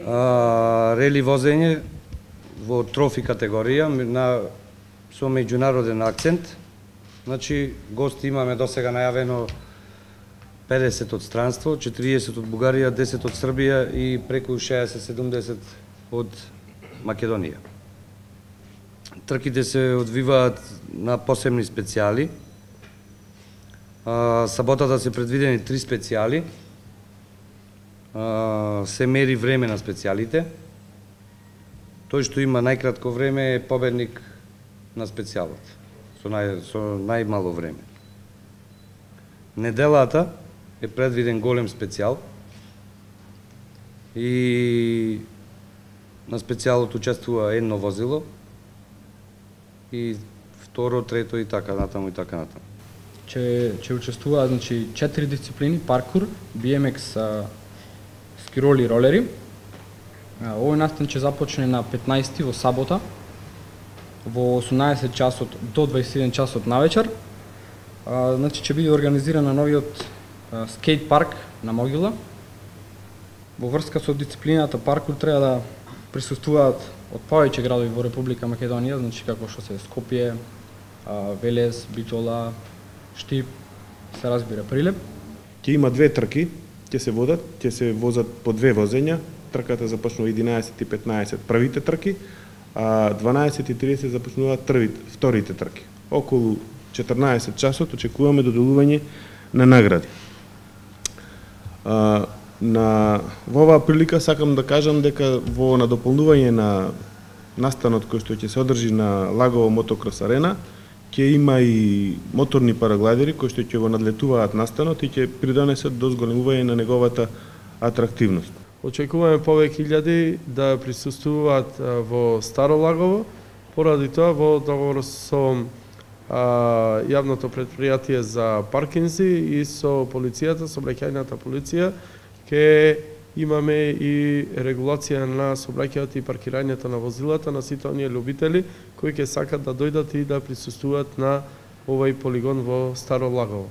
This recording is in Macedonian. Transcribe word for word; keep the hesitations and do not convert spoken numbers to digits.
А, рели возење во трофи категорија на со меѓународен акцент. Значи, гости имаме досега најавено педесет од странство, четириесет од Бугарија, десет од Србија и преку шеесет седумдесет од Македонија. Трките се одвиваат на посебни специјали. А, саботата се предвидени три специјали. А, се мери време на специјалите. Тој што има најкратко време е победник на специјалот, со, нај, со најмало време. Неделата е предвиден голем специјал и на специјалот учествува едно возило и второ, трето и така натаму и така натаму. Че че учествуваат значи четири дисциплини: паркур, би ем екс, скироли и ролери. Овој настан ќе започне на петнаесети во сабота во осумнаесет часот до дваесет и еден часот навечер. А, значи ќе биде организиран на новиот а, скейт парк на Могила. Во врска со дисциплината паркур треба да присуствуваат од повеќе градови во Република Македонија, значи како што се Скопје, а, Велес, Битола, Штип, се разбира Прилеп. Ќе има две трки, ќе се водат, ќе се возат по две возења. Трката започнува единаесет и петнаесет првите трки, а дванаесет и тридесет започнуваат трвите, вторите трки. Околу четрнаесет часот очекуваме доделување на награди. А, на во оваа прилика сакам да кажам дека во надополнување на настанот кој што ќе се одржи на Лагово мотокрос арена, ќе има и моторни параглайдери кои што ќе го надлетуваат настанот и ќе придонесат до зголемување на неговата атрактивност. Очекуваме повеќе илјади да присуствуваат во Старо Лагово, поради тоа во договор со а, јавното претпријатие за паркинзи и со полицијата, сообраќајната полиција, ќе имаме и регулација на сообраќајот и паркирањето на возилата на сите оние љубители кои ќе сакат да дојдат и да присуствуваат на овој полигон во Старо Лагово.